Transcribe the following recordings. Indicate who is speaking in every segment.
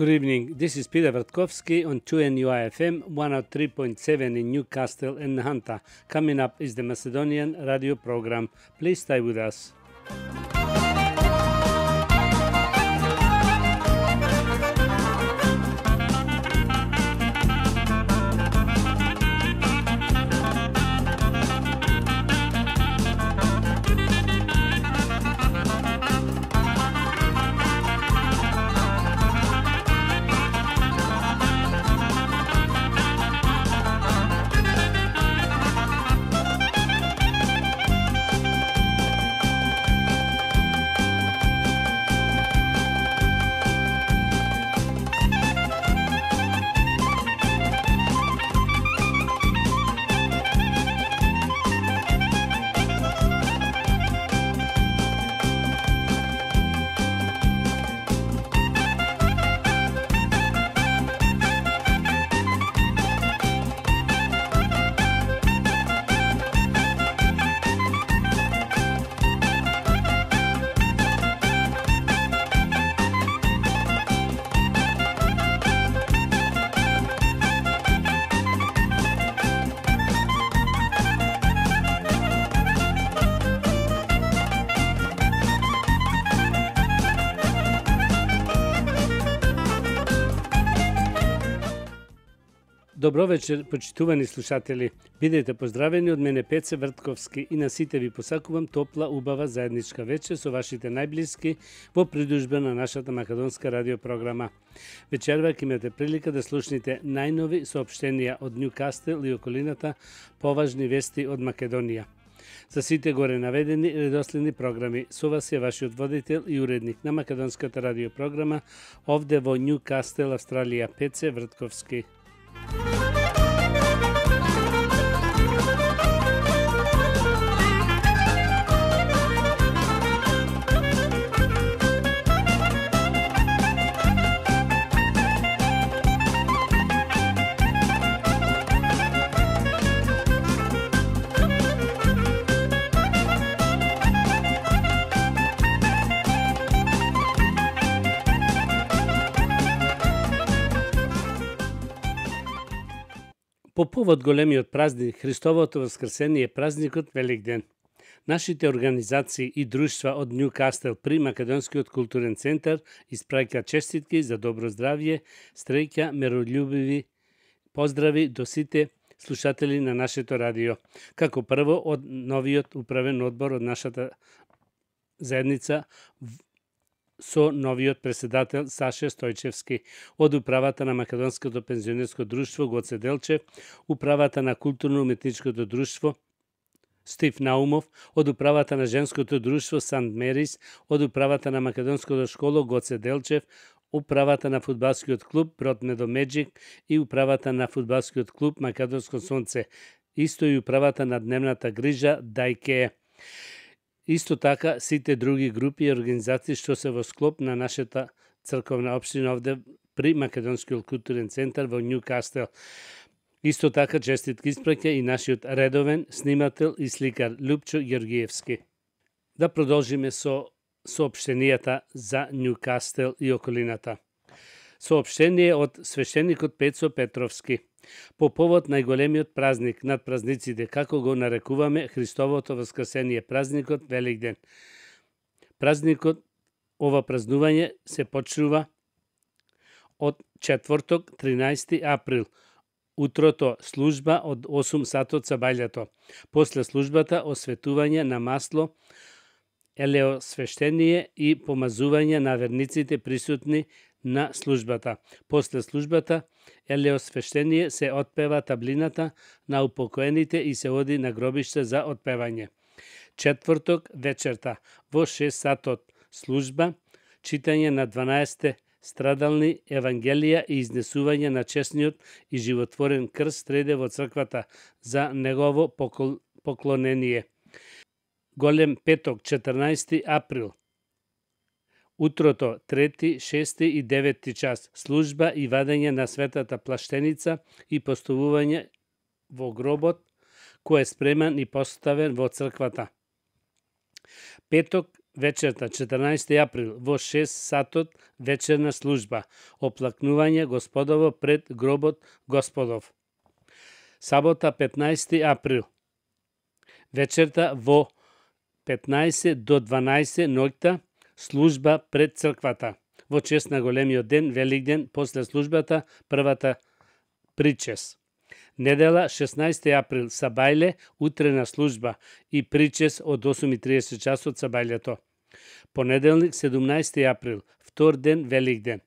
Speaker 1: Good evening. This is Peter Vertkovsky on 2NUI-FM 103.7 in Newcastle and Nahanta. Coming up is the Macedonian radio program. Please stay with us. Добро вечер, почитувани слушатели. Бидете поздравени од мене Пеце Вртковски и на сите ви посакувам топла, убава заедничка вечер со вашите најблиски во придужба на нашата македонска радиопрограма. Вечерва ќе имате прилика да слушнете најнови соопштенија од Ньюкастел и околината, поважни вести од Македонија. За сите горе наведени редоследни програми, со вас е вашиот водител и уредник на македонската радиопрограма овде во Ньюкастел, Австралија, Пеце Вртковски. По повод големиот празник Христовото воскресение е празникот Великден. Нашите организации и друштва од Ньюкастел при Македонскиот културен центар испраќаат честитки за добро здравје, среќа, мирољубиви поздрави до сите слушатели на нашето радио. Како прво од новиот управен одбор од нашата заедница со новиот председател Саше Стојчевски, од управата на Македонското пензионерско друштво Гоце Делчев, управата на културно-уметничкото друштво Стив Наумов, од управата на женското друштво Сант Мерис, од управата на Македонското школо Гоце Делчев, управата на фудбалскиот клуб Брод Медомеджик и управата на фудбалскиот клуб Македонско сонце, исто и управата на дневната грижа Дајке. Исто така сите други групи и организации што се во склоп на нашата црковна општина овде при Македонскиот културен центар во Ньюкастел. Исто така честитки испраќа и нашиот редовен снимател и сликар Лупчо Георгиевски. Да продолжиме со соопштенијата за Ньюкастел и околината. Соопштение од свештеникот Пецо Петровски. По повод најголемиот празник над празниците, како го нарекуваме Христовото воскресение, празникот Великден. Празникот, ова празнување се почнува од четврток, 13 април. Утрото служба од 8 сатот сабајлето. После службата осветување на масло, елеосвештение и помазување на верниците присутни на службата. После службата елеосвештение се отпева таблината на упокоените и се оди на гробиште за отпевање. Четврток вечерта во 6 сатот служба, читање на 12 страдални евангелија и изнесување на честниот и животворен крст среде во црквата за негово поклонение. Голем петок, 14 април. Утрото, 3, 6 и 9 час, служба и вадење на светата плаштеница и поставување во гробот, кој е спреман и поставен во црквата. Петок, вечерта 14 април во 6 сатот вечерна служба, оплакнување Господово пред гробот Господов. Сабота 15 април вечерта во 15 до 12 ноќта служба пред црквата. Во чест на големиот ден, Великден, после службата, првата причес. Недела 16 април сабајле, утрена служба и причес од 8:30 часот сабајлето. Понеделник 17 април, втор ден Великден.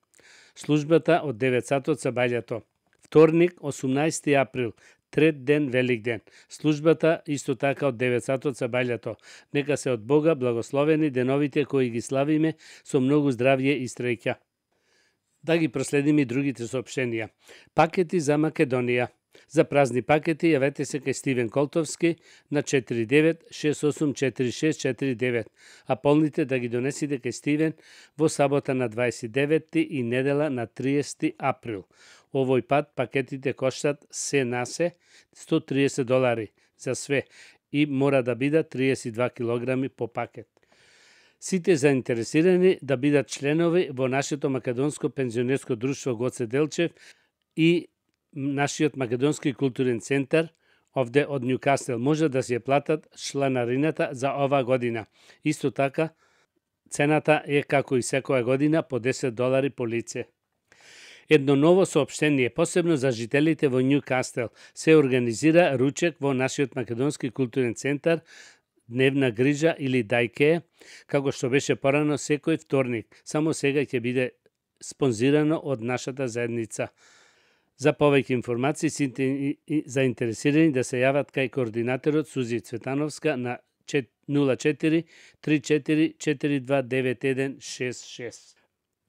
Speaker 1: Службата од 9 сатот сабајлето. Вторник 18 април, трет ден Великден. Службата исто така од 9 сатот сабајлето. Нека се од Бога благословени деновите кои ги славиме со многу здравје и среќа. Да ги проследиме и другите соопштенија. Пакети за Македонија. За празни пакети јавете се кај Стивен Колтовски на 49684649, а полните да ги донесите кај Стивен во сабота на 29 и недела на 30 април. Овој пат пакетите коштат се на се $130 за све и мора да бидат 32 килограми по пакет. Сите заинтересирани да бидат членови во нашето македонско пензионерско друштво Гоце Делчев и нашиот македонски културен центар овде од Нјукастел може да се платат чланарината за оваа година. Исто така, цената е како и секоја година по $10 по лице. Едно ново соопштение, посебно за жителите во Нјукастел, се организира ручек во нашиот македонски културен центар, дневна грижа или дајке, како што беше порано секој вторник. Само сега ќе биде спонзирано од нашата заедница. За повеќе информации сите заинтересирани да се јават кај координаторот Сузи Цветановска на 04 34 42 9166.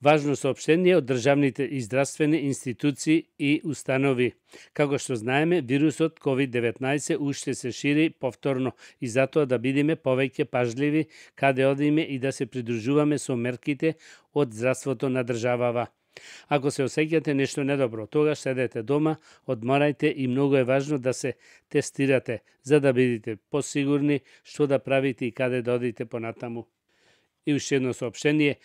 Speaker 1: Важно соопштение од државните и здравствени институции и установи. Како што знаеме, вирусот COVID-19 уште се шири повторно и затоа да бидеме повеќе пажливи каде одиме и да се придружуваме со мерките од здравството на државава. Ако се осеќате нешто недобро, тогаш седете дома, одморајте и многу е важно да се тестирате, за да бидете посигурни што да правите и каде да одите понатаму. И уште едно соопштение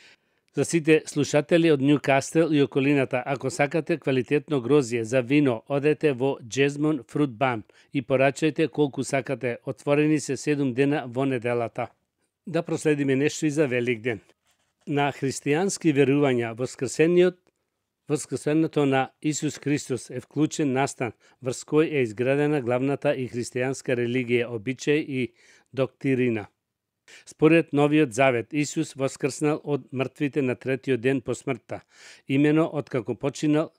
Speaker 1: за сите слушатели од Нјукастел и околината. Ако сакате квалитетно грозје за вино, одете во Джезмон Фрут Бан и порачајте колку сакате. Отворени се 7 дена во неделата. Да проследиме нешто и за Великден. На христијански верувања воскресењето на Исус Христос е вклучен настан врз кој е изградена главната и христијанска религија, обичај и доктрина. Според Новиот Завет, Исус воскрснал од мртвите на третиот ден по смртта, имено од како починал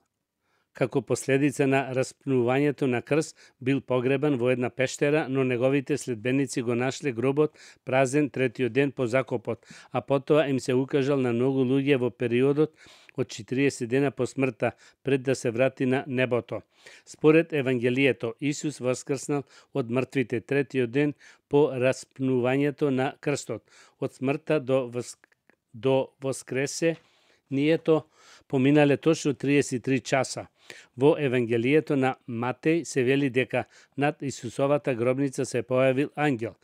Speaker 1: како последица на распнувањето на крст, бил погребан во една пештера, но неговите следбеници го нашле гробот празен третиот ден по закопот, а потоа им се укажал на многу луѓе во периодот од 40 дена по смртта, пред да се врати на небото. Според Евангелието, Исус воскрснал од мртвите третиот ден по распнувањето на крстот. Од смртта до воскресението поминале точно 33 часа. Во Евангелието на Матеј се вели дека над Исусовата гробница се појавил ангел.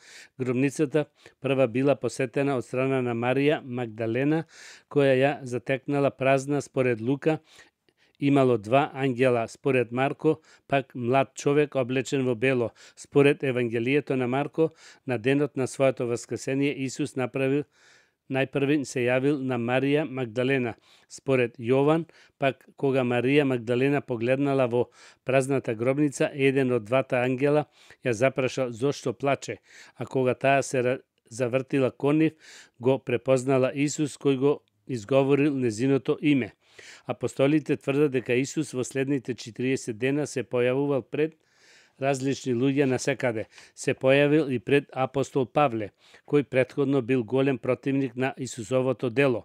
Speaker 1: Гробницата прва била посетена од страна на Марија Магдалена, која ја затекнала празна. Според Лука имало 2 ангела, според Марко пак млад човек облечен во бело. Според Евангелието на Марко, на денот на своето воскресение Исус најпрви се јавил на Марија Магдалена. Според Јован, пак кога Марија Магдалена погледнала во празната гробница, еден од двата ангела ја запрашал зошто плаче, а кога таа се завртила кон нив, го препознала Исус кој го изговорил незиното име. Апостолите тврдат дека Исус во следните 40 дена се појавувал пред различни луѓе насекаде. Се појавил и пред апостол Павле, кој претходно бил голем противник на Исусовото дело.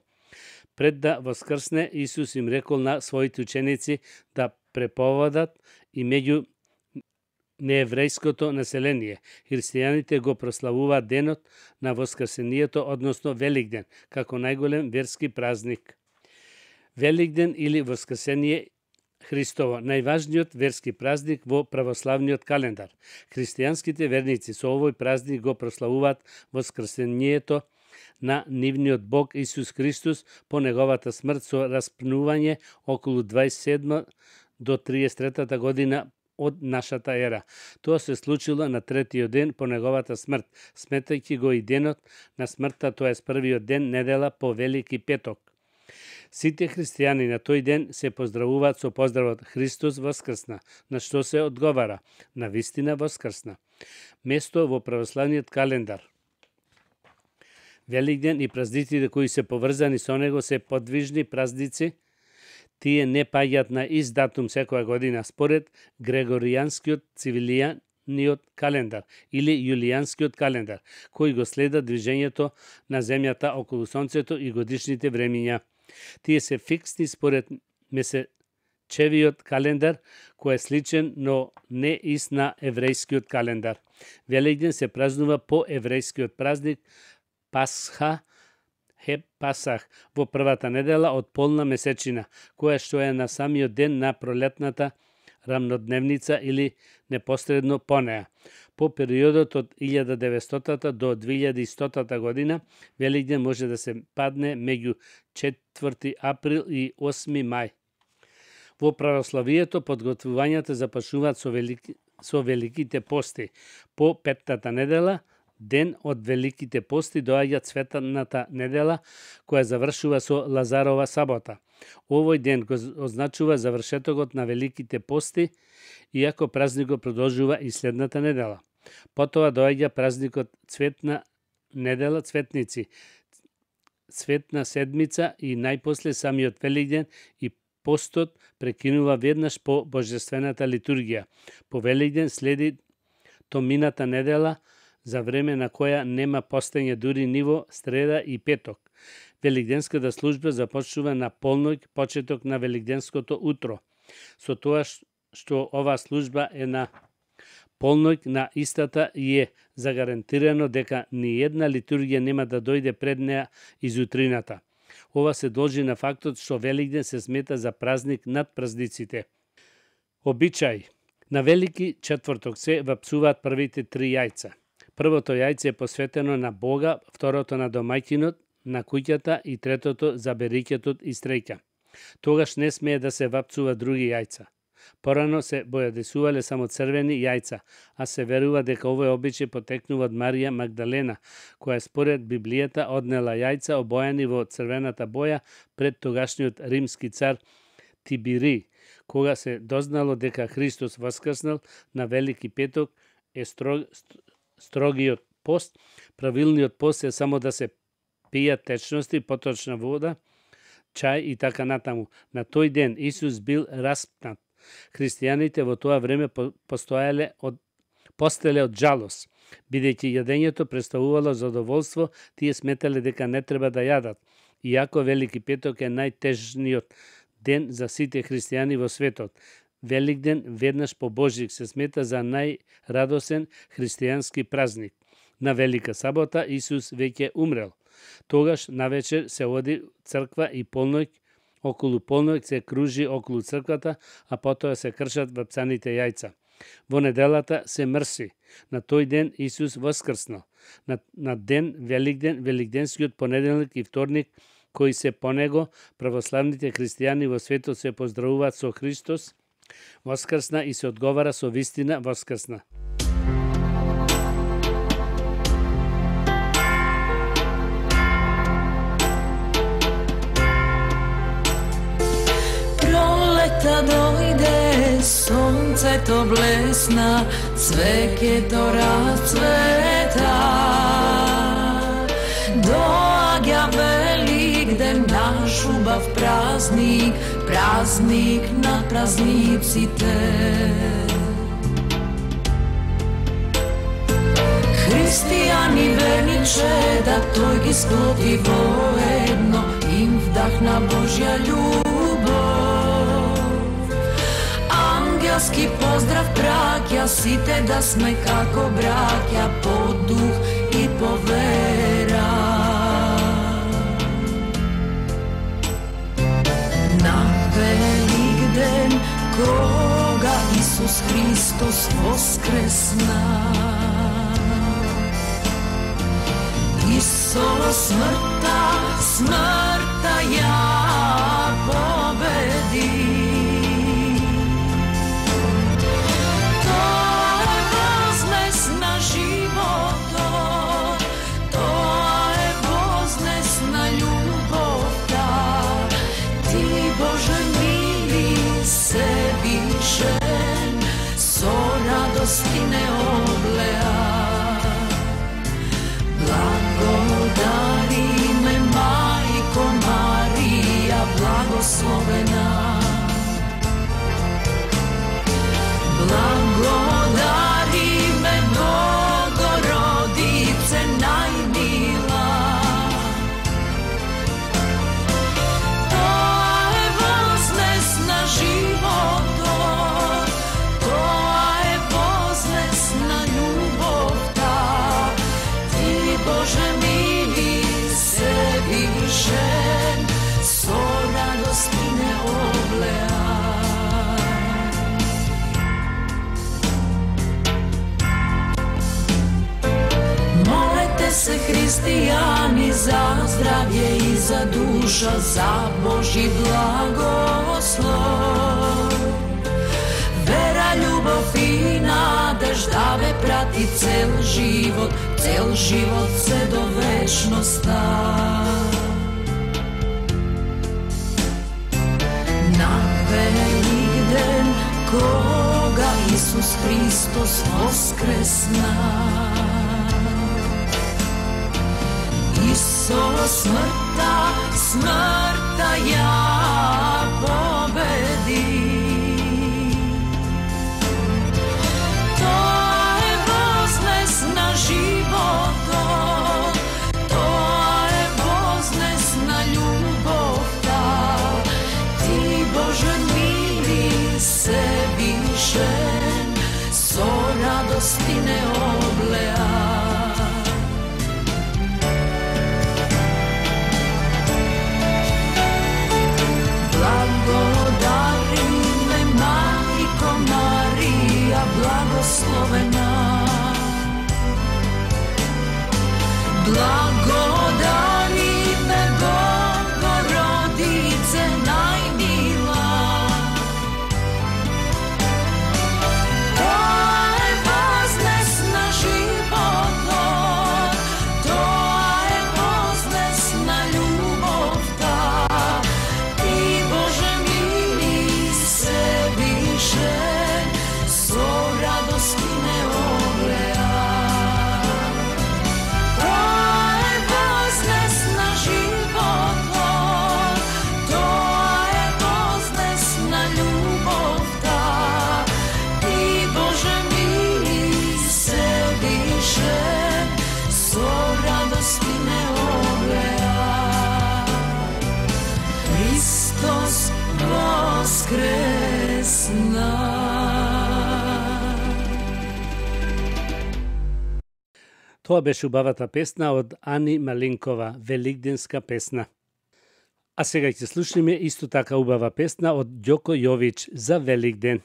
Speaker 1: Пред да воскрсне, Исус им рекол на своите ученици да преповадат и меѓу нееврејското население. Христијаните го прославуваат денот на воскресението, односно Великден, како најголем верски празник. Великден или Воскресение Христово, најважниот верски празник во православниот календар. Христијанските верници со овој празник го прославуваат Воскресението на нивниот Бог Исус Христос по неговата смрт со распнување околу 27 до 33 година од нашата ера. Тоа се случило на третиот ден по неговата смрт, сметајќи го и денот на смртта, тоа е првиот ден недела по Велики петок. Сите христијани на тој ден се поздравуваат со поздравот Христос воскрсна, на што се одговара: на вистина воскрсна. Место во православниот календар. Великден и празниците кои се поврзани со него се подвижни празници. Тие не паѓаат на ист датум секоја година според Грегоријанскиот цивилијаниот календар или Јулијанскиот календар, кој го следа движењето на земјата околу сонцето и годишните времиња. Тие се фиксни според месечевиот календар, кој е сличен, но не ист на еврејскиот календар. Великден се празнува по еврејскиот празник Пасха, Пасах, во првата недела од полна месечина, која што е на самиот ден на пролетната рамнодневница или непосредно по неа. По периодот од 1900 до 2100 година, Великден може да се падне меѓу 4 април и 8 мај. Во православието подготвувањата започнуваат со великите пости. По петтата недела, ден од великите пости, доаѓа цветната недела, која завршува со Лазарова сабота. Овој ден го означува завршетокот на великите пости, иако празникот продолжува и следната недела. Потоа доаѓа празникот Цветна недела, Цветници, Цветна седмица и најпосле самиот Великден, и постот прекинува веднаш по божествената литургија. По Великден следи Томината недела, за време на која нема постење дури ниво среда и петок. Великденската служба започнува на полноќ, почеток на Великденското утро. Со тоа што оваа служба е на полноќ на истата и е загарантирано дека ни една литургија нема да дојде пред неа изутрината. Ова се должи на фактот што Великден се смета за празник над празниците. Обичај. На Велики четврток се вапсуваат првите 3 јајца. Првото јајце е посветено на Бога, второто на домаќинот, на куќата и третото за берикетот и стреќа. Тогаш не смее да се вапцува други јајца. Порано се бојадесувале само црвени јајца, а се верува дека овој обичај потекнува од Марија Магдалена, која според Библијата однела јајца обојани во црвената боја пред тогашниот римски цар Тибири. Кога се дознало дека Христос воскреснал на Велики петок, е строгиот пост. Правилниот пост е само да се пијат течности, поточна вода, чај и така натаму. На тој ден Исус бил распнат. Христијаните во тоа време постеле од жалост. Бидејќи јадењето представувало задоволство, тие сметале дека не треба да јадат. Иако Велики петок е најтежниот ден за сите христијани во светот. Великден веднаш по Божик се смета за најрадосен христијански празник. На Велика сабота Исус веќе умрел. Тогаш навечер се оди црква и полноќ, околу полноќ се кружи околу црквата, а потоа се кршат вапцаните јајца. Во неделата се мрси. На тој ден Исус воскрснал. На ден Великден, Великденскиот понеделник и вторник, кои се по него, православните христијани во светот се поздравуваат со Христос воскрсна и се одговара со вистина воскрсна.
Speaker 2: Пролета дојде, сонцето блесна, цвеќето расцвета. Доаѓа Великден, наш убав празник, празник на празниците. Христијани верниче да тој ги склопи воедно, им вдахна Божја љубов. Ангелски поздрав браќа, сите да сме како браќа, по дух и по вера. На Великден, кога Исус Христос воскресна, Исус смртта ја победи. Тоа е вознес на животот, тоа е вознес на љубовта. Ти, Боже мили, Севишен, со радости не облеа. Благодари ме, Мајко Марија, благословена. Благодари ме, Богородице најмила. Тоа е вознес на животот, тоа е вознес на љубовта. Боже мили, Севишен, со радости не облеа. Молете се, христијани, за здравје и за душа, за Божи благослов. Вера, љубов и надежда ве прати цел живот се до вечноста. На Великден, кога Исус Христос воскресна, Исус смртта ја победи. Животот, тоа е вознес на љубовта. Ти, Боже мили, Севишен, со радости не облеа. Благодари ме, Мајко Марија, благословена. Благодари ме, Богородице најмила. Тоа е вознес на животот, тоа е вознес на љубовта. Ти, Боже мили, Севишен, со радости не облеа.
Speaker 1: Тоа беше убавата песна од Ани Малинкова, Великденска песна. А сега ќе слушнеме исто така убава песна од Ѓоко Јович за Великден.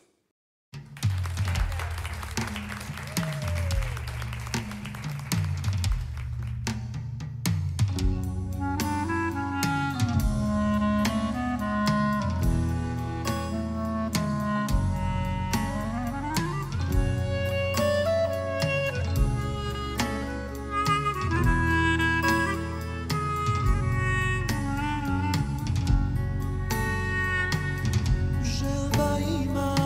Speaker 3: Желба има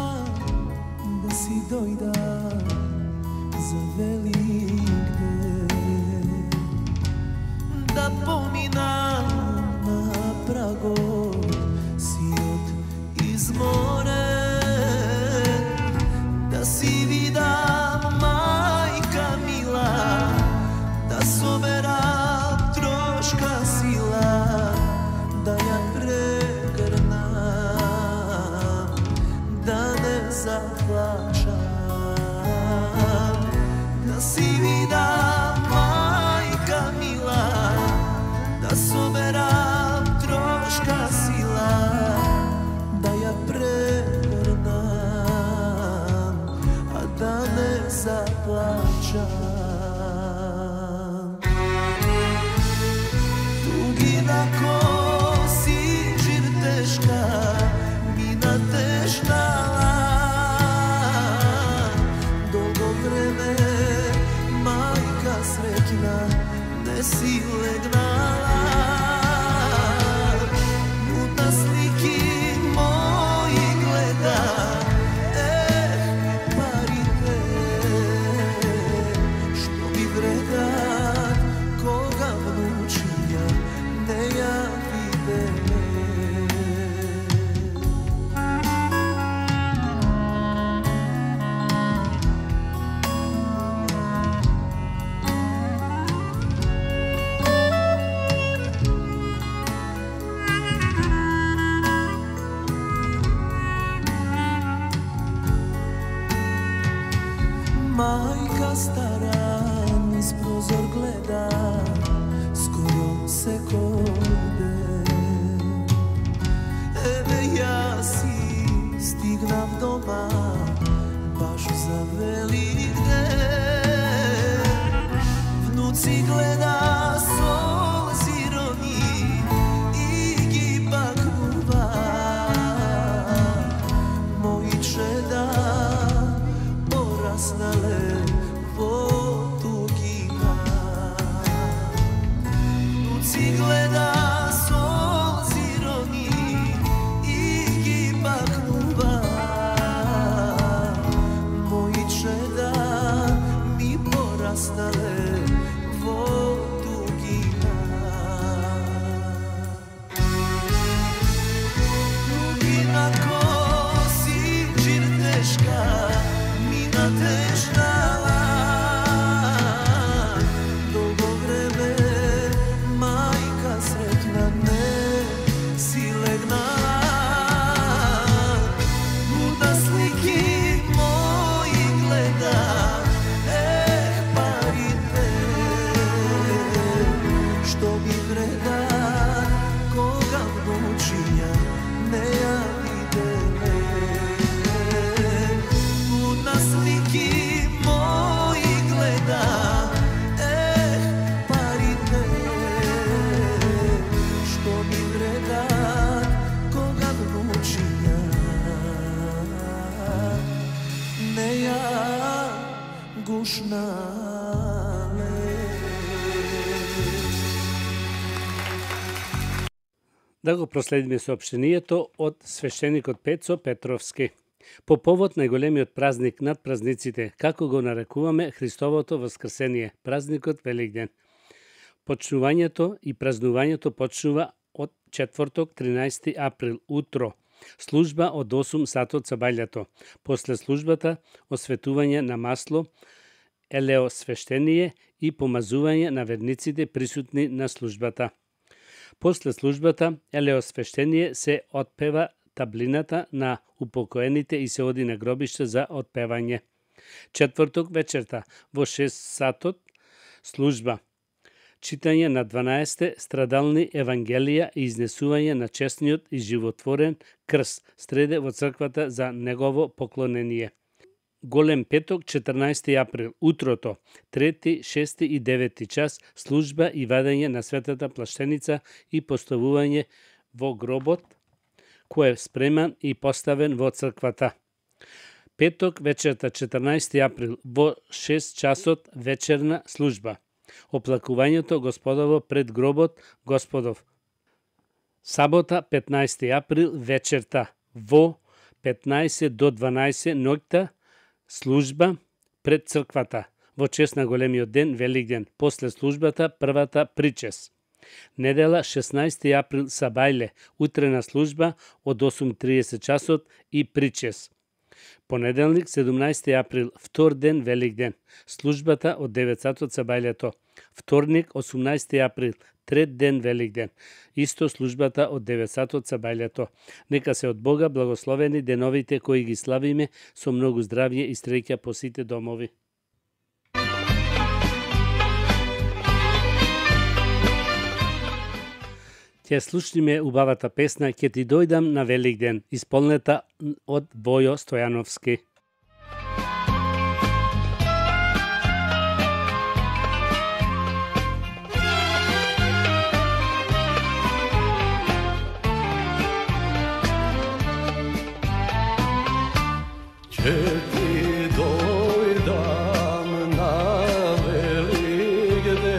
Speaker 3: sretna ne si legnala. Mutna sliki moji gleda, parite, što bi vredan koga vnučija ne javide. Majka stara niz prozor gleda, skoro se kode. Eve ja si stignav doma, baš za Velikden. Vnuci gleda sol zironi i giba kluba. Moji čeda porasnale vodugina. Vnuci gleda sol zironi i giba kluba. Moji čeda mi porasnale vodugina. Dugina kosi čirteška, mina težnala. Dolgo vreme majka sretna ne si legnala. Mutna sliki moji gleda, parite, što bi vredan koga vnučija ne javide. Mutna sliki moji gleda, parite, što bi vredan koga vnučija ne jagušnale.
Speaker 1: Да го проследиме соопштението од свештеникот Пецо Петровски. По повод најголемиот празник над празниците, како го нарекуваме Христовото воскресение, празникот Великден. Почнувањето и празнувањето почнува од четврток 13 април утро. Служба од 8 сатот за бајлето. После службата осветување на масло, елеосвештение и помазување на верниците присутни на службата. После службата елеосвештение се отпева таблината на упокоените и се оди на гробиште за отпевање. Четврток вечерта во 6 сатот служба. Читање на 12 страдални евангелија и изнесување на честниот и животворен крст среде во црквата за негово поклонение. Голем петок 14 април утрото 3, 6 и 9 час служба и вадење на светата плаштеница и поставување во гробот кој е спреман и поставен во црквата. Петок вечерта 14 април во 6 часот вечерна служба. Оплакувањето Господово пред гробот Господов. Сабота 15 април вечерта во 15 до 12 ноќта служба пред црквата во чест на големиот ден Великден. После службата првата причес. Недела 16 април сабајле, утрена служба од 8:30 часот и причес. Понеделник 17 април, втор ден Великден. Службата од 9 сатот сабајлето. Вторник 18 април, трет ден Великден. Исто службата од 9 сатот сабајлето. Нека се од Бога благословени деновите кои ги славиме со многу здравје и среќа по сите домови. Ќе слушниме убавата песна «Ке ти дојдам на Великден», исполнета од Војо Стојановски.
Speaker 3: Ке ти дојдам на Великден,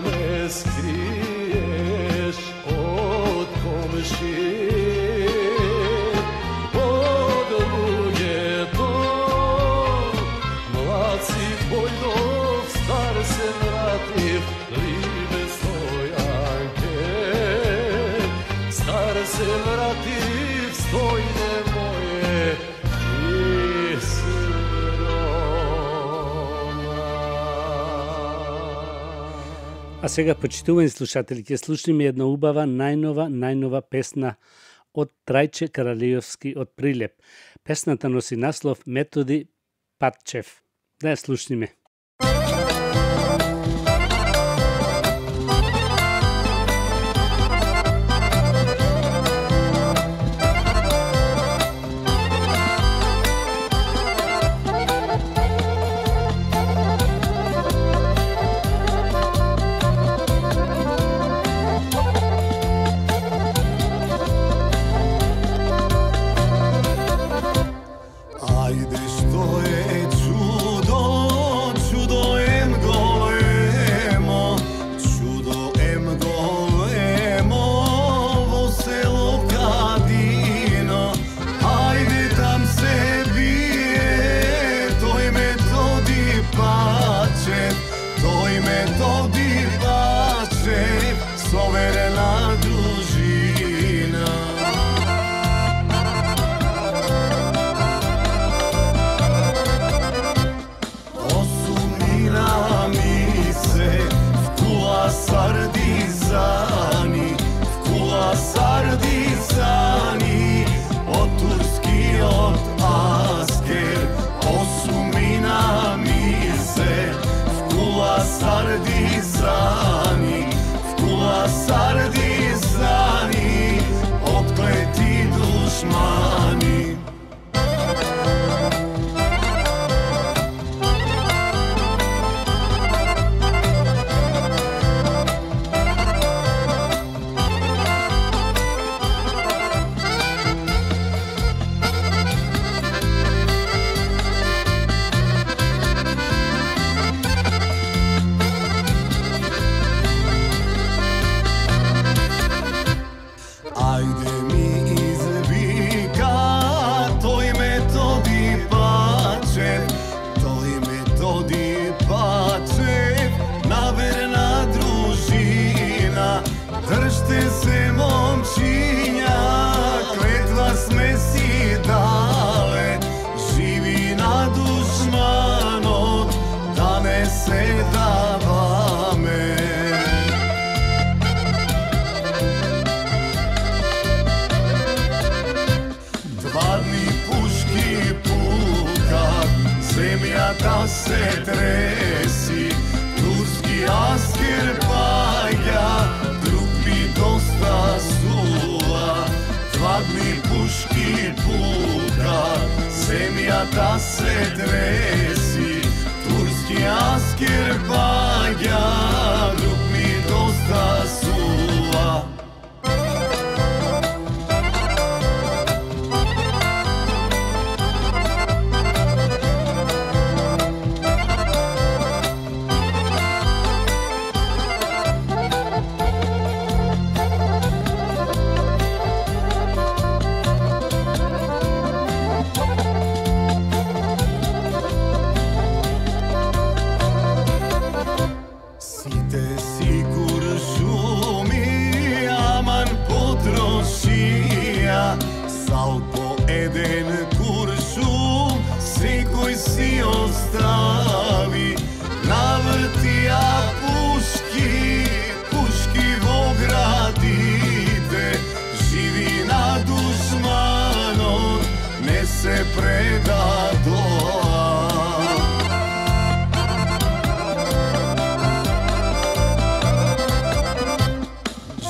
Speaker 3: da me skriješ od komšije, od luje to. Mlad si Vojdov, star se vrativ, libe stojanke. Star se vrativ, stojne moje i
Speaker 1: А сега, почитувани слушатели, ќе слушнеме една убава, најнова песна од Трајче Каралиовски од Прилеп. Песната носи наслов Методи Патчев. Да ја слушнеме.
Speaker 3: Ajde što je čudo, čudo em golemo, čudo em golemo, vo selo Kadino. Ajde tam se bije, toj Metodi Patčev, toj Metodi Patčev, soverena družina. Sardizani, vkula sardizani, od Turski, od Asker, osumina mise, vkula sardizani, odkleti dušmani. Ajde mi izvika, toj Metodi Patčev, toj Metodi Patčev, naverna družina. Držte se momčinja, kletva sme si dale, živi na dušmanot, da ne se davame. Puški puka, zemlja da se tresi, turski asker paja, drug mi dosta suva. Dva dni puški puka, zemlja da se tresi, turski asker paja, drug mi dosta suva. Salpo eden kuršum, sekoj si ostavi, navrtija puški vo gradite, živi na dušmanom, ne se preda doa.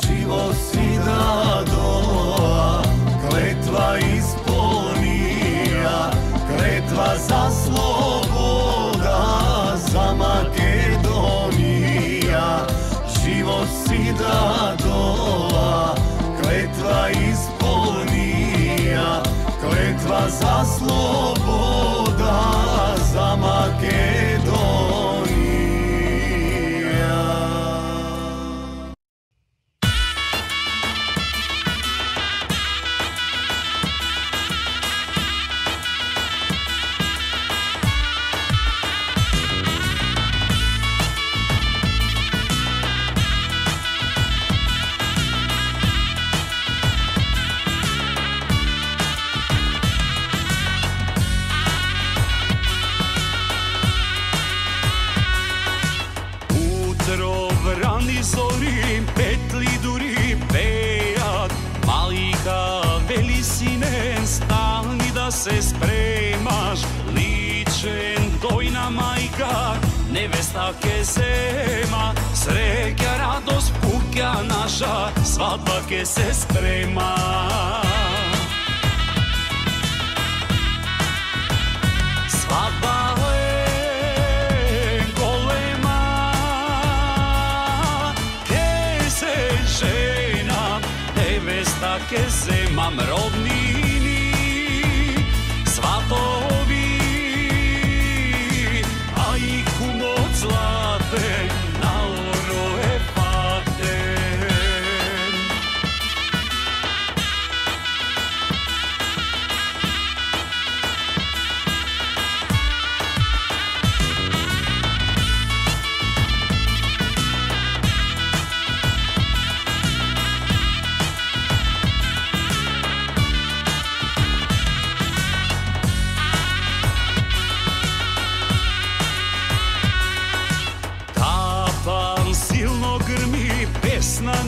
Speaker 3: Živo si da doa, kletva ispunija, kletva za sloboda, za Makedonija. Živo si da doa, kletva ispunija, kletva za sloboda, za Makedonija.
Speaker 4: ке зема, среќа, радост, пуќа наша, свадба ке се спрема. Свадба е голема, ке се женам, невеста ке земам, роднини, сватови, а и кумот златен, наоро е патен.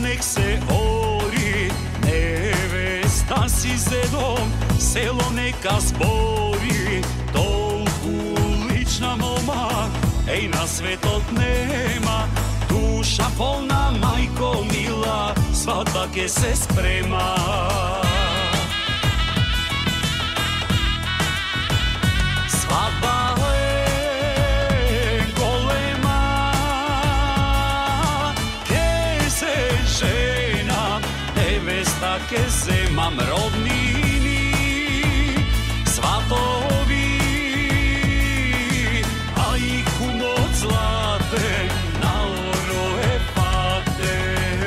Speaker 4: Нек се ори, невеста си зедом, село нека збори, толку лична молба, еј на светот нема, душа полна, мајко мила, свадба ке се спрема. Свадба е голема, женам, невеста ке земам, роднини, сватови, а и кумот златен, наоро е патен.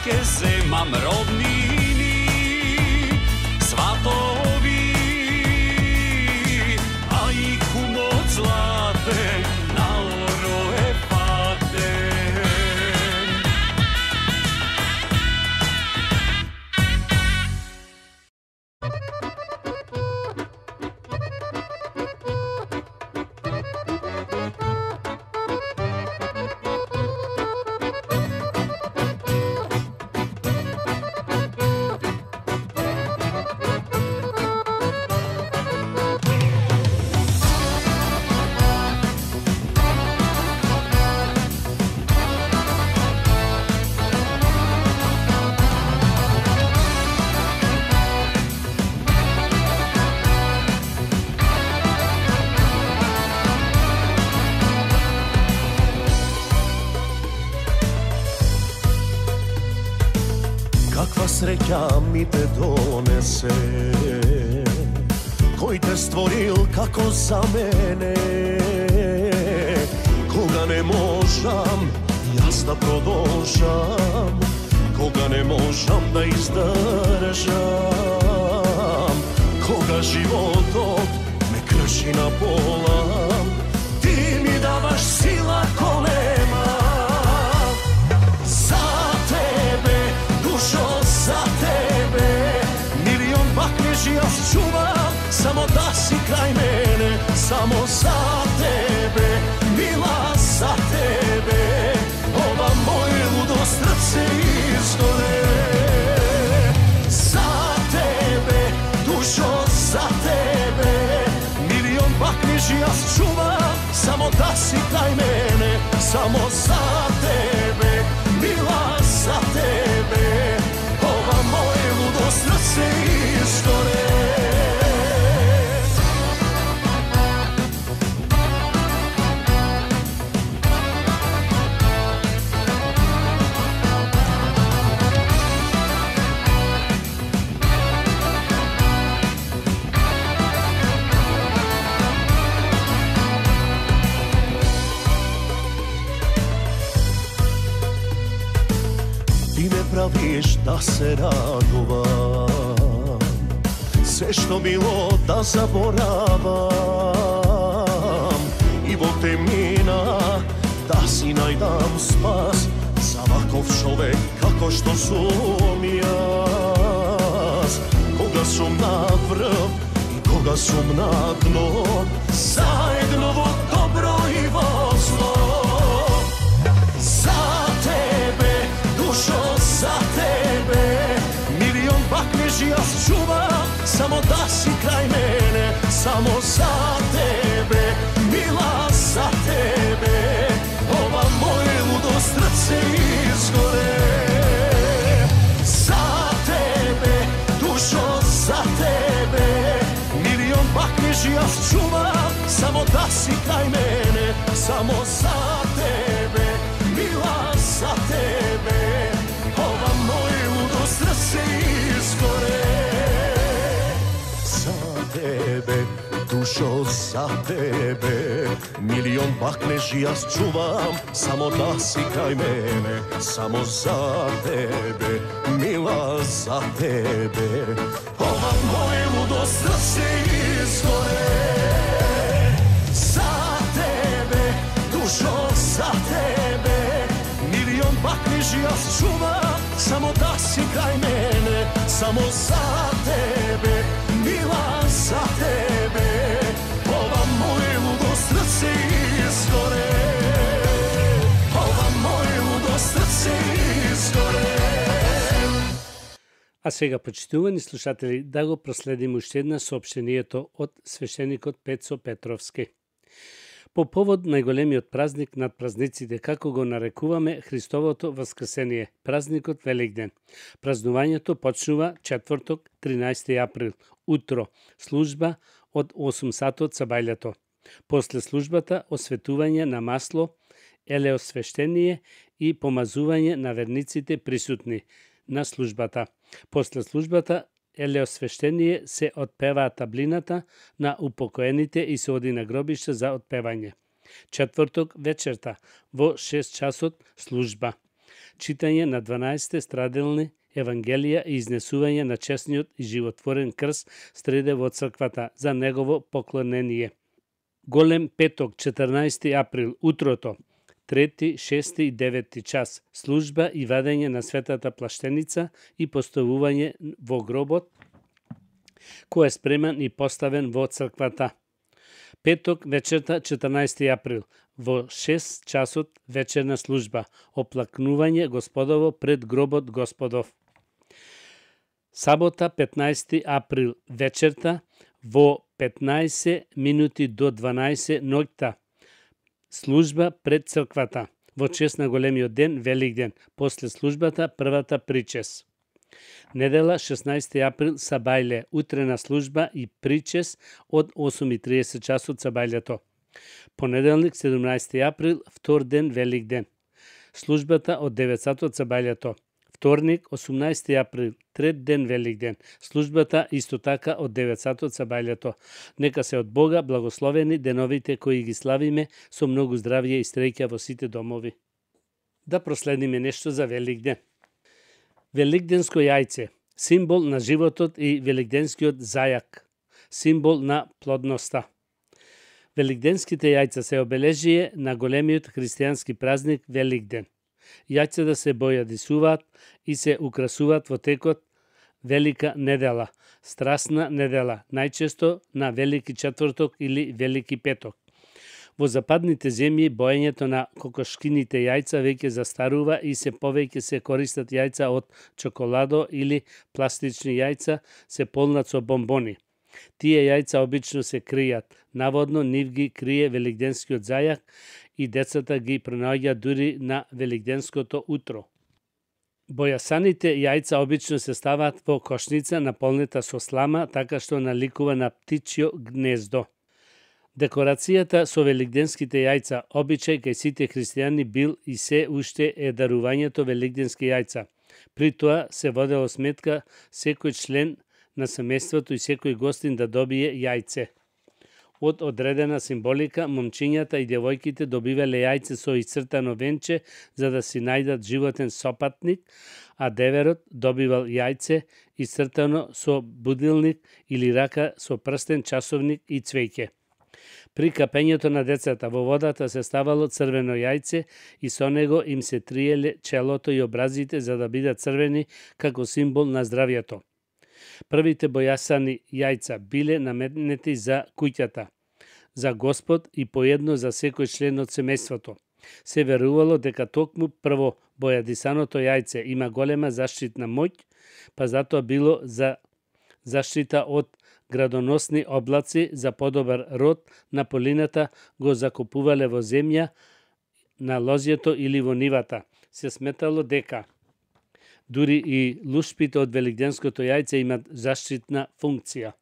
Speaker 4: Ке земам, роднини, сватови, а и кумот златен, наоро е патен.
Speaker 3: Среќа ми те донесе, кој те створил како за мене. Кога не можам јас да продолжам, кога не можам да издржам, кога животот ме крши на пола, ти ми даваш сила голема. За тебе, душо, за тебе, милион бакнежи јас чувам, само да си крај мене, само за тебе, мила, за тебе, ова моје лудо срце изгоре. За тебе, душо, за тебе, милион бакнежи јас чувам, само да си крај мене, само за тебе, мила, за тебе, ова моје лудо срце изгоре. kažeš da se radovam, sve što bilo da zaboravam, i vo temnina da si najdam spas za ovakov čovek kako što sum jaz. Koga sum na vrh i koga sum na dno, zajedno vo dobro i vo zlo. Za tebe, dušo, za tebe, milion baknež jaz čuvam, samo da si kraj mene, samo za tebe, mila, za tebe, ova moje ludo srce izgore. Za tebe, dušo, za tebe, milion baknež jaz čuvam, samo da si kraj mene, samo za tebe, mila, za tebe, ova moje ludo srce izgore. Za tebe, dušo, za tebe, milion baknež jaz čuvam, samo da si kraj mene, samo za tebe, mila, za tebe, ova moje ludo srce izgore. Za tebe, dušo, za tebe, milion baknež jaz čuvam, samo da si kraj mene, samo za tebe, mila, za tebe, ova moje ludo srce izgore. Ova moje ludo srce izgore.
Speaker 1: А сега, почитувани слушатели, да го проследиме уште една соопштението од свештеникот Пецо Петровски. По повод најголемиот празник над празниците, како го нарекуваме Христовото воскресение, празникот Великден. Празнувањето почнува четврток, 13 април, утро, служба од 8 сатот са бајлето. После службата осветување на масло, елеосвештение и помазување на верниците присутни на службата. После службата елеосвештение се отпеваа таблината на упокоените и се оди на гробиште за отпевање. Четврток вечерта во 6 часот служба. Читање на 12 страделни евангелија и изнесување на честниот и животворен крст среде во црквата за негово поклонение. Голем петок, 14 април, утрото, 3, 6 и 9 час, служба и вадење на светата плаштеница и поставување во гробот, кој е спремен и поставен во црквата. Петок вечерта, 14 април, во 6 часот вечерна служба, оплакнување Господово пред гробот Господов. Сабота, 15 април, вечерта, во 15 минути до 12 ноќта, служба пред црквата, во чест на големиот ден, Великден, после службата, првата причес. Недела, 16 април, сабајле, утрена служба и причес од 8:30 часот сабајлето. Понеделник, 17 април, втор ден, Великден. Службата од 9 сатот сабајлето. Вторник, 18 април, трет ден Великден. Службата исто така од 9 сатот сабајлето. Нека се од Бога благословени деновите кои ги славиме со многу здравје и среќа во сите домови. Да проследиме нешто за Великден. Великденско јајце, символ на животот и великденскиот зајак, символ на плодноста. Великденските јајца се обележие на големиот христијански празник Великден. Јајцата се бојадисуваат и се украсуваат во текот Велика недела, страсна недела, најчесто на Велики четврток или Велики петок. Во западните земји боењето на кокошкините јајца веќе застарува и се повеќе се користат јајца од чоколадо или пластични јајца се полнат со бомбони. Тие јајца обично се кријат, наводно нив ги крие великденскиот зајак и децата ги пронаоѓаат дури на великденското утро. Бојасаните јајца обично се ставаат во кошница наполнета со слама, така што наликува на птичјо гнездо. Декорацијата со великденските јајца, обичај кај сите христијани бил и се уште е дарувањето великденски јајца. При тоа се водело сметка секој член на семејството и секој гостин да добие јајце. Од одредена символика, момчињата и девојките добивале јајце со исцртано венче за да си најдат животен сопатник, а деверот добивал јајце исцртано со будилник или рака со прстен, часовник и цвеќе. При капењето на децата во водата се ставало црвено јајце и со него им се триеле челото и образите за да бидат црвени како символ на здравјето. Првите бојасани јајца биле наметнети за куќата, за Господ и по едно за секој член од семејството. Се верувало дека токму прво бојадисаното јајце има голема заштитна моќ, па затоа било за заштита од градоносни облаци, за подобар род на полината го закупувале во земја, на лозјето или во нивата. Се сметало дека дури и лушпите од великденското јајце имат заштитна функција.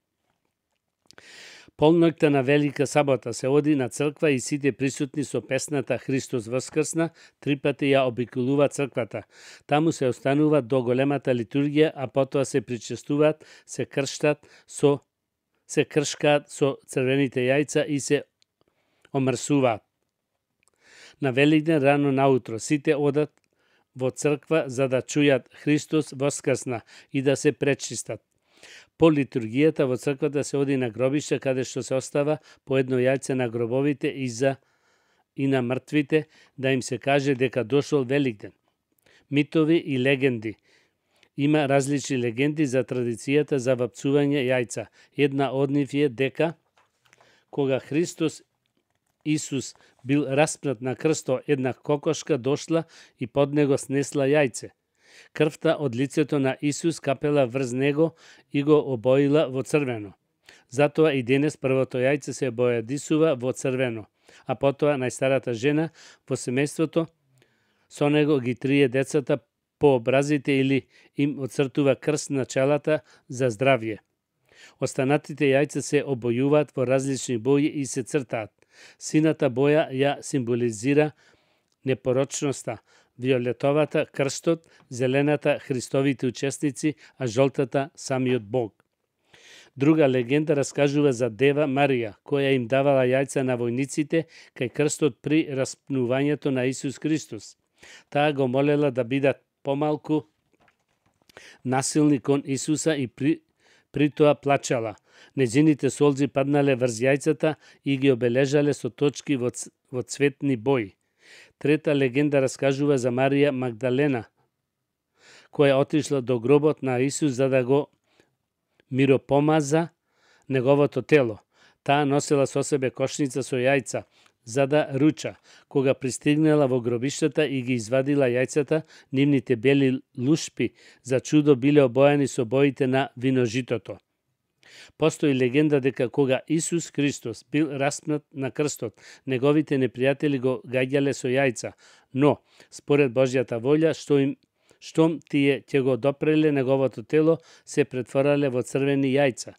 Speaker 1: Полноќта на Велика сабота се оди на црква и сите присутни со песната Христос воскрсна 3 пати ја обиколува црквата. Таму се остануваат до големата литургија, а потоа се причестуваат, се кршкаат со црвените јајца и се омрсуваат. На Великден рано наутро сите одат во црква за да чујат Христос воскрсна и да се пречистат. По литургијата во црквата се оди на гробиште каде што се остава по едно јајце на гробовите и на мртвите да им се каже дека дошол Великден. Митови и легенди. Има различни легенди за традицијата за вапцување јајца. Една од нив е дека кога Христос Исус бил распнат на крсто, една кокошка дошла и под него снесла јајце. Крвта од лицето на Исус капела врз него и го обоила во црвено. Затоа и денес првото јајце се бојадисува во црвено, а потоа најстарата жена во семејството со него ги трие децата по образите или им оцртува крст на челата за здравје. Останатите јајца се обојуваат во различни бои и се цртаат. Сината боја ја символизира непорочноста, виолетовата крстот, зелената Христовите учесници, а жолтата самиот Бог. Друга легенда раскажува за Дева Марија, која им давала јајца на војниците кај крстот при распнувањето на Исус Христос. Таа го молела да бидат помалку насилни кон Исуса и при тоа плачала. Нејзините солзи паднале врз јајцата и ги обележале со точки во цветни бои. Трета легенда раскажува за Марија Магдалена, која отишла до гробот на Исус за да го миропомаза неговото тело. Таа носела со себе кошница со јајца, за да руча. Кога пристигнала во гробиштата и ги извадила јајцата, нивните бели лушпи за чудо биле обојани со боите на виножитото. Постои легенда дека кога Исус Христос бил распнат на крстот, неговите непријатели го гаѓале со јајца, но, според Божјата волја, штом тие ќе го допреле неговото тело, се претворале во црвени јајца.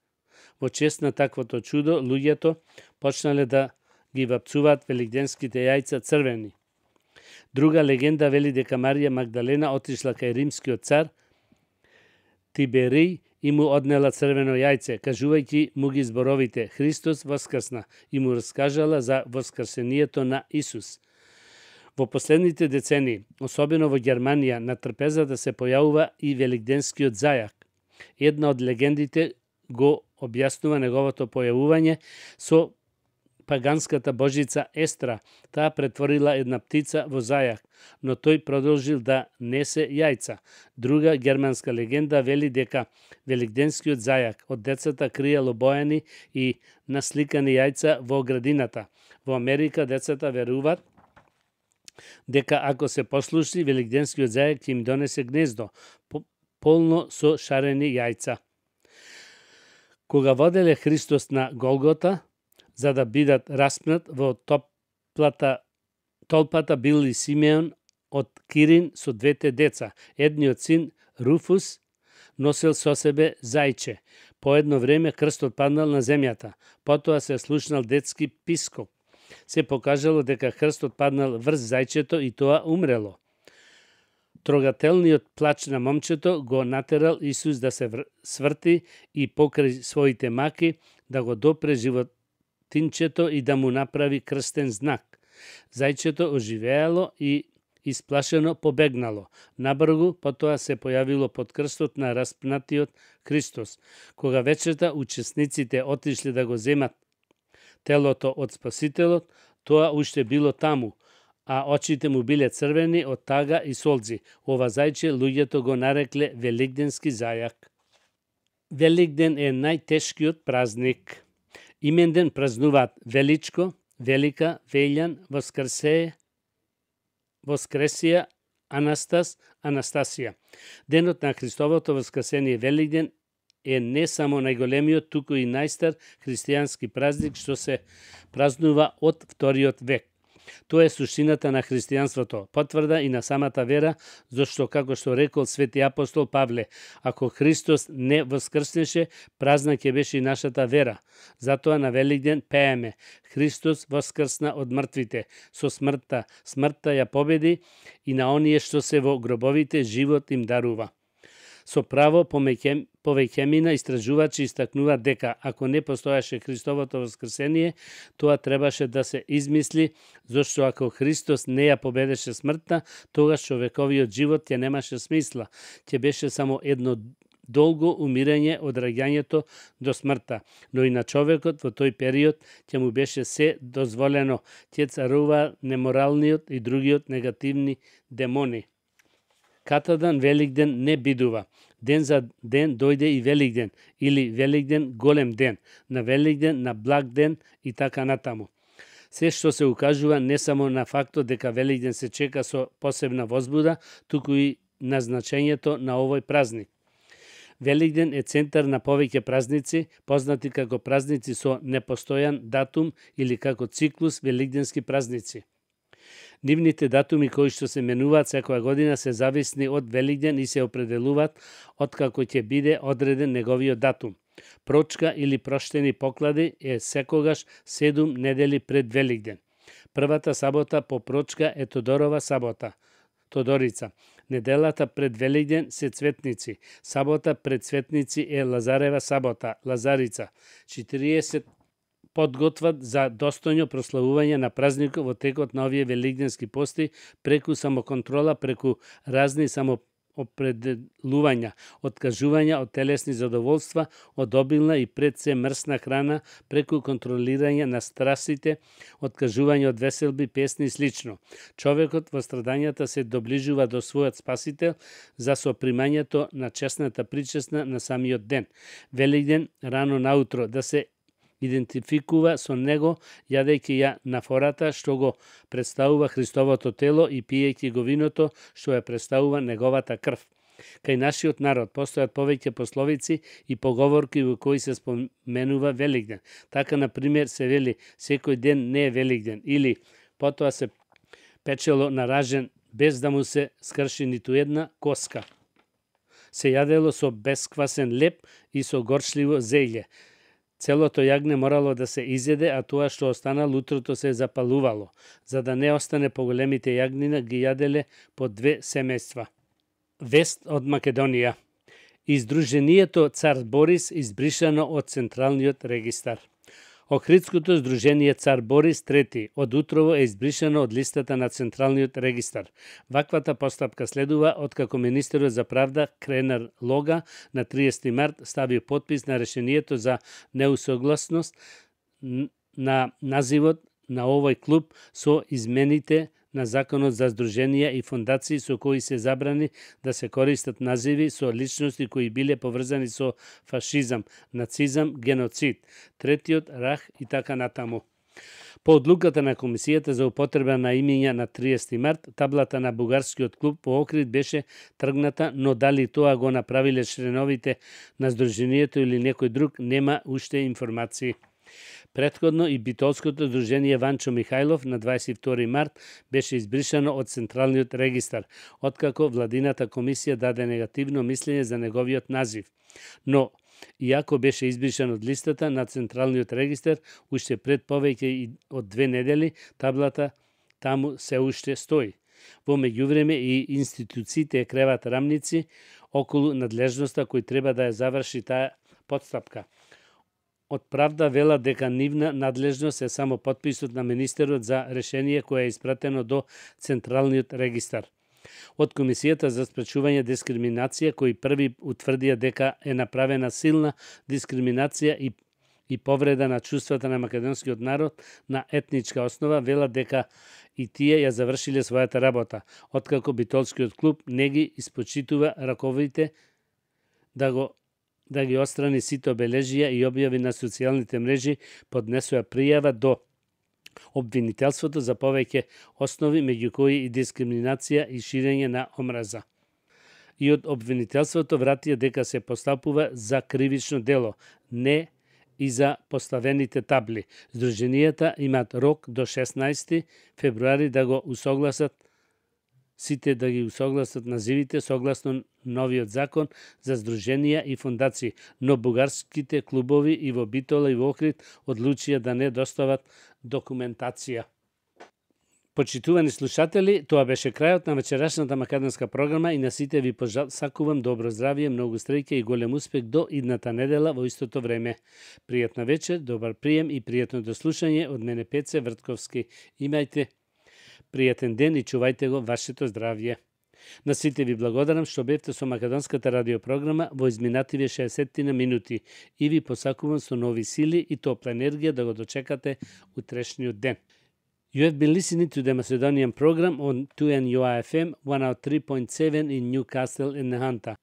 Speaker 1: Во чест на таквото чудо, луѓето почнале да ги вапцуваат великденските јајца црвени. Друга легенда вели дека Марија Магдалена отишла кај римскиот цар Тиберий и му однела црвено јајце, кажувајќи му ги зборовите Христос воскрсна и му раскажала за воскрсението на Исус. Во последните децении, особено во Германија, на трпезата се појавува и великденскиот зајак. Една од легендите го објаснува неговото појавување со паганската божица Естра. Таа претворила една птица во зајак, но тој продолжил да несе јајца. Друга германска легенда вели дека великденскиот зајак од децата криел обојани и насликани јајца во градината. Во Америка децата веруваат дека ако се послушни, великденскиот зајак ќе им донесе гнездо, полно со шарени јајца. Кога воделе Христос на Голгота, за да бидат распнат, во толпата бил и Симеон од Кирин со двете деца. Едниот син, Руфус, носел со себе зајче. По едно време крстот паднал на земјата. Потоа се слушнал детски пискок. Се покажало дека крстот паднал врз зајчето и тоа умрело. Трогателниот плач на момчето го натерал Исус да се сврти и покрај своите маки да го допре птинчето и да му направи крстен знак. Зајчето оживеало и исплашено побегнало. Набргу потоа се појавило под крстот на распнатиот Христос. Кога вечерта учесниците отишле да го земат телото од Спасителот, тоа уште било таму, а очите му биле црвени од тага и солзи. Ова зајче луѓето го нарекле Великденски зајак. Великден е најтешкиот празник. Именден празнуваат Величко, Велика, Велјан, Воскресија, Анастас, Анастасија. Денот на Христовото воскресение Великден е не само најголемиот, туку и најстар христијански празник што се празнува од вториот век. Тоа е суштината на христијанството, потврда и на самата вера, зашто, како што рекол свети апостол Павле, ако Христос не воскрснеше, празна ќе беше и нашата вера. Затоа на Великден пееме: Христос воскрсна од мртвите, со смртта ја победи и на оние што се во гробовите живот им дарува. Со право повеќемина истражувачи истакнуваат дека ако не постоеше Христовото воскресение, тоа требаше да се измисли, зашто ако Христос не ја победеше смртта, тогаш човековиот живот ќе немаше смисла, ќе беше само едно долго умирање од раѓањето до смртта, но и на човекот во тој период ќе му беше се дозволено, ќе царува неморалниот и другиот негативни демони. Катадан Великден не бидува. Ден за ден дојде и Великден, или Великден голем ден, на Великден на благ ден и така натаму. Се што се укажува не само на фактот дека Великден се чека со посебна возбуда, туку и на значењето на овој празник. Великден е центар на повеќе празници, познати како празници со непостојан датум или како циклус великденски празници. Нивните датуми кои што се менуваат секоја година се зависни од Великден и се определуваат откако ќе биде одреден неговиот датум. Прочка или проштени поклади е секогаш 7 недели пред Великден. Првата сабота по прочка е Тодорова сабота, Тодорица. Неделата пред Великден се Цветници. Сабота пред Цветници е Лазарева сабота, Лазарица. 40 подготват за достојно прославување на празникот во текот на овие великденски пости, преку самоконтрола, преку разни самоопределувања, откажувања од телесни задоволства, од обилна и пред се мрсна храна, преку контролирање на страстите, откажување од веселби, песни и слично. Човекот во страдањата се доближува до својот Спасител за сопримањето на чесната причесна на самиот ден. Великден рано наутро да се идентификува со него, јадејќи ја на фората што го представува Христовото тело и пиејќи го виното што ја представува неговата крв. Кај нашиот народ постојат повеќе пословици и поговорки во кои се споменува Великден. Така, например, се вели секој ден не е Великден, или потоа се печело на ражен без да му се скрши ниту една коска. Се јадело со бесквасен леп и со горчливо зејле. Целото јагне морало да се изеде, а тоа што останало утрото се запалувало. За да не остане поголемите јагнина, ги јаделе по 2 семејства. Вест од Македонија. Издруженијето Цар Борис избришано од Централниот регистар. Охридското здружение Цар Борис III од утрово е избришано од листата на Централниот регистар. Ваквата постапка следува откако министерот за правда Кренар Лога на 30 март стави потпис на решението за неусогласност на називот на овој клуб со измените на Законот за здруженија и фондации со кои се забрани да се користат називи со личности кои биле поврзани со фашизам, нацизам, геноцид, Третиот рах и така натаму. По одлуката на Комисијата за употреба на имиња на 30 март, таблата на бугарскиот клуб по Охрид беше тргната, но дали тоа го направиле членовите на здруженијето или некој друг, нема уште информации. Претходно и битолското здружение Ванчо Михајлов на 22 март беше избришано од Централниот регистар, откако владината комисија даде негативно мислење за неговиот назив. Но, иако беше избришан од листата на Централниот регистар, уште пред повеќе од 2 недели, таблата таму се уште стои. Во меѓувреме и институциите креват рамници околу надлежноста кој треба да ја заврши таа подстапка. од Правда велат дека нивна надлежност е само потписот на министерот за решение кое е испратено до Централниот регистар. Од Комисијата за спречување дискриминација, кои први утврдија дека е направена силна дискриминација и повреда на чувствата на македонскиот народ на етничка основа, велат дека и тие ја завршиле својата работа, откако Битолскиот клуб не ги испочитува раковите да ги отстрани сите обележија и објави на социјалните мрежи, поднесува пријава до обвинителството за повеќе основи, меѓу кои и дискриминација и ширење на омраза. И од обвинителството вратија дека се постапува за кривично дело, не и за поставените табли. Сдруженијата имаат рок до 16 февруари да го усогласат називите согласно новиот закон за здруженија и фондации, но бугарските клубови и во Битола и во Охрид одлучија да не достават документација. Почитувани слушатели, тоа беше крајот на вечерашната македонска програма и на сите ви посакувам добро здравје, многу среќа и голем успех до идната недела во истото време. Пријатна вечер, добар прием и пријатно дослушање од мене Пеце Вртковски. Имајте пријатен ден и чувајте го вашето здравје. На сите ви благодарам што бевте со македонската радиопрограма во изминативе 60 минути и ви посакувам со нови сили и топла енергија да го дочекате утрешниот ден. You have been listening to the Macedonian program on 2NUR FM 103.7 in Newcastle in Nahanta.